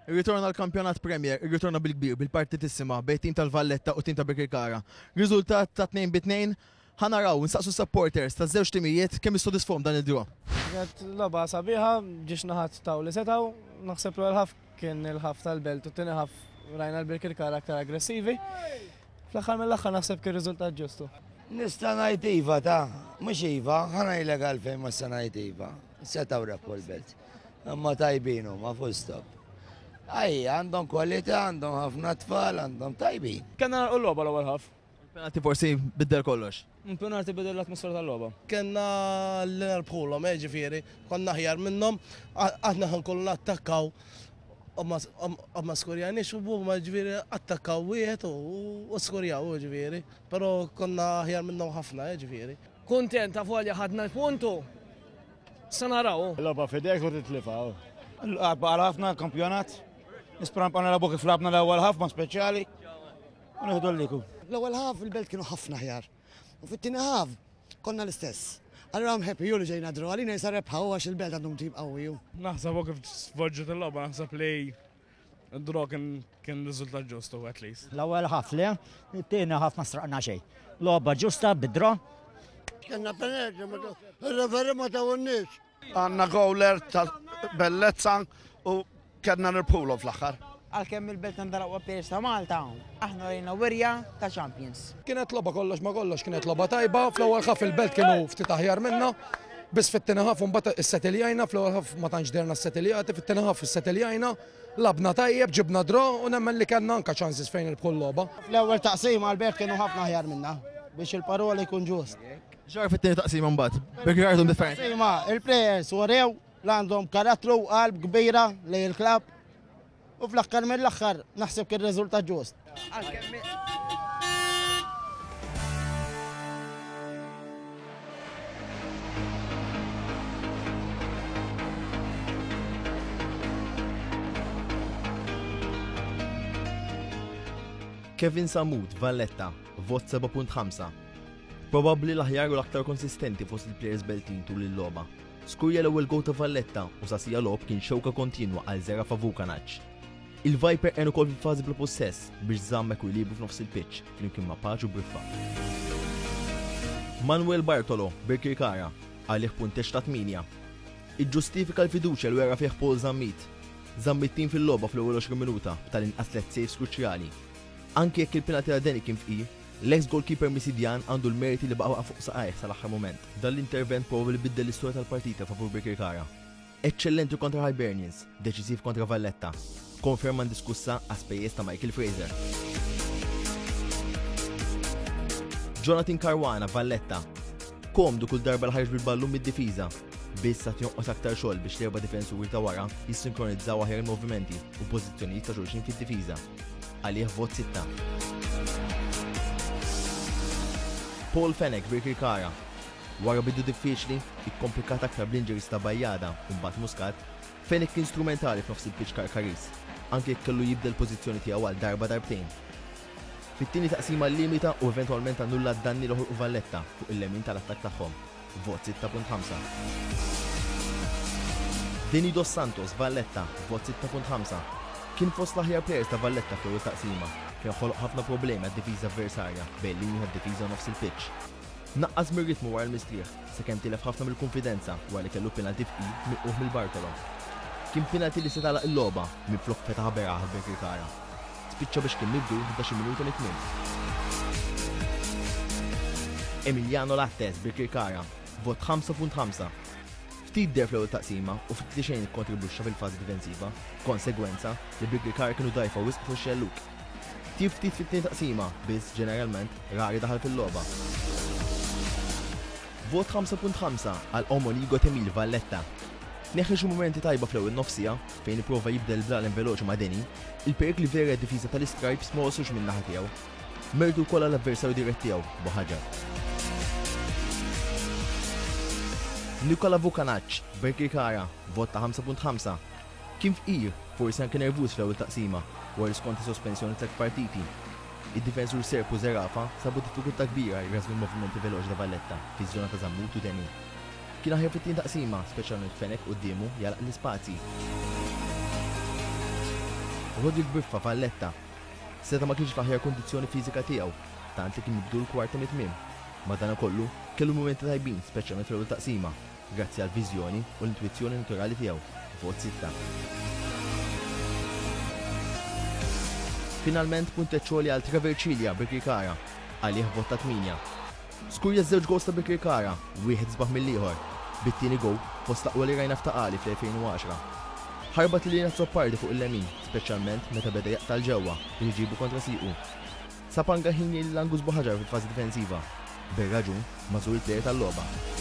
Irritorna l-Kampjonat Premier, irritorna bil-kbir, bil-partitissima bejn tim tal-Valletta u tim ta' Birkirkara. Riżultat ta' 2 bi 2, ħa naraw, nsaqsu s-supporters taż-żewġ timijiet kemm issodisfahom dan il-draw. Kienet logħba sabiħa, ġiex naħat taw li setgħu, naħseb l-ewwel ħaf kien il-ħaf tal-Belt u t-tieni ħaf rajna l-Birkirkara aktar aggressivi. Fl-aħħar mill-aħħar naħseb kien riżultat ġustu. Nista' ngħid iva ta' mhux iva, ħa ngħidlek għalfejn ma se ngħid iva. Setgħu rebħu l-Belt. Imma tajbin huma full stop. Aj, għandhom kwalità, għandhom ħafna tfal, għandhom tajbin. Kellna nagħlqu l-logħba l-ewwel ħaf. Il-penalty forsi biddel kollox. Il-penalty biddel l-atmosfera tal-logħba. Kellna li nerbħulhom, eh, ġifieri, konna aħjar minnhom, aħna ħa nkunu nattakkaw u ma skurjaniex u huma ġifieri attakkaw wieħed u skurjaw ġifieri, però konna aħjar minnhom ħafna, eh, ġifieri. Kuntent avolja ħadna l-puntu. Sa naraw. Logħba f'idejk u titlifha. Lagħba għal ħafna l-kampjonat. Nispera nibqgħu nilagħbu kif lagħbna l-ewwel ħaf ma' speċjali. U nieħdu l-liku. L-ewwel ħaf il-Belt kienu ħafna aħjar. U fit-tieni ħaf konna l-istess. Allura I'm happy ju li ġejna draw għalina jisa rebħa u għax il-Belt għandhom tim qawwi. Naħseb u kif svolġiet il-logħba naħseb li Draw kien kien riżultat ġustu at least. L-ewwel ħaf le, it-tieni ħaf ma straqna xejn. Logħba ġusta bid-draw. Kellna penalty, ir-referee ma tawunniex. Għandna gowler ta' bellezza u kellna nirbħulhom fl-aħħar. Għalkemm il-Belt għandha l-aqwa players ta' Malta, aħna rejna wirja ta' champions. Kienet logħba kollox ma kollox, kienet logħba tajba, fl-ewwel ħaf il-Belt kienu ftit aħjar minna, biss fit-tieni ħaf imbagħad issetiljajna, fl-ewwel ħaf ma tantx derna ssetiljati, fit-tieni ħaf issetiljajna, lagħbna tajjeb, ġibna draw u nemmen li kellna anke chances fejn nirbħu l-logħba. Fl-ewwel taqsima l-Belt kienu ħafna aħjar minna, biex il-parola jkun ġust. X'ġara fit-tieni taqsima mbagħad? Birkirkara differenti. Taqsima, il-players urew li għandhom karattru u qalb kbira lejn il-klabb u fl-aħħar mill-aħħar naħseb kien riżultat ġust. Kevin Sammut, Valletta, vot 7.5. Probabbli l-aħjar u l-aktar konsistenti fost il-players Beltin tul il-logħba. Skurja l-ewwel goal ta' Valletta u sa siegħa logħob kien xewka kontinwa għal Zerafa Vukanac. Il-Viper għen ukoll fil-fażi bla pussess biex żamm ekwilibru f'nofs il-pitch flimkien ma' Pace u Briffa. Manuel Bartolo, Birkirkara, għalih punteġġ ta' 8. Iġġustifika l-fiduċja li wera fih Paul Zammit. Żamm it-tim fil-logħba fl-ewwel 20 minuta b'tal-inqas tliet saves kruċjali. Anki jekk il-penalty ta' Danny kien fqir, l-eks goalkeeper Misidjan għandu l-merti li baqa' fuq saqajh sal-aħħar mument. Dan l-intervent probabbli biddel l-istorja tal-partita favur Birkirkara. Eċċellenti kontra Hibernians, deċiżiv kontra Valletta. Konferma indiskussa għas-spejjeż ta' Michael Fraser. Jonathan Caruana, Valletta. Komdu kull darba li ħareġ bil-ballun mid-difiża. Biss għad jonqos aktar xogħol biex l-erba' difensuri ta' wara jissinkronizzaw aħjar il-movimenti u pożizzjonijiet ta' xulxin fid-difiża. Għalih vot sitta. Paul Fenech, Birkirkara. Wara bidu diffiċli, ikkomplikat aktar bl-injuries ta' Bajada u mbagħad Muscat, Fenech kien strumentali f'nofs il-pitch Karkariż, anke jekk kellu jibdel l-pożizzjoni tiegħu għal darba darbtejn. Fit-tieni taqsima llimita u eventwalment annulla d-danni li ħolqu Valletta fuq il-lemin tal-attakk tagħhom, vot 6.5. Deni Dos Santos, Valletta, vot 6.5. Kien fost l-aħjar players ta' Valletta fl-ewwel taqsima, fejn ħoloq ħafna problemi għad-difiża avversarja bejn il-linji tad-difiża u nofs il-pitch. Naqqas mir-ritmu wara l-mistrieħ, sakemm tilef ħafna mill-kunfidenza wara li kellu penalty fqir milqugħ mill Bartolo. Kien penalty li seta' għalaq il-logħba, minflok fetaħha beraħ għal Birkirkara. Spiċċa biex kien mibdul 11-il minuta mit-tmiem. Emiliano Lattes, Birkirkara, vot 5.5. Ftit deher fl-ewwel taqsima u ftit li xejn ikkontribwixxa fil-fażi difensiva, b'konsegwenza li Birkirkara kienu dgħajfa wisq fuq ix-xellug. Tjieb ftit fit-tieni taqsima, biss, ġeneralment, rari daħal fil-logħba. Vot 5.5 għal Omonigo Temil Valletta. Neħħi xi mumenti tajba fl-ewwel nofs siegħa, fejn ipprova jibdel il-blalen veloċi ma' Deni, il-perikli veri għad-difiża tal-Istripes ma waslux min-naħa tiegħu. Mertu wkoll għall-avversarju dirett tiegħu, Buhaġar. Nikola Vukanac, Birkirkara, vot ta' 5.5. Kien fqir, forsi anke nervuż fl-ewwel taqsima, wara li skonta sospensjoni tlett partiti. Id-difensur Serb u Zerafa sabu diffikultà kbira jrażżnu l-movimenti veloċi ta' Valletta fiż-żona ta' Zammut u Deni. Kien aħjar fit-tieni taqsima, speċjalment b'Fenech quddiemu jagħlaq l-ispazji. Roderick Briffa, Valletta, seta' ma kienx fl-aħjar kundizzjoni fiżika tiegħu, tant li kien mibdul kwarta mit-tmiem. Madankollu, kellu mumenti tajbin speċjalment fl-ewwel taqsima, grazzi għall-viżjoni u l-intwizzjoni naturali tiegħu. Vot sitta. Finalment punteġġ għoli għal Trevor Cilia, Birkirkara. Għalih vot ta' tmienja. Skurja ż-żewġ gowls ta' Birkirkara, wieħed isbaħ mill-ieħor, bit-tieni gowl fost l-aqwa li rajna f'Ta' Qali fl-2010. Ħarbat lil Ian Azzopardi fuq il-lemin, speċjalment meta beda jaqta' 'l ġewwa biex iġibu kontra siequ. Sab anke ħin jgħin lil Angus Buhagiar fil-fażi difensiva. Bir-raġun, magħżul il-plejer tal-logħba.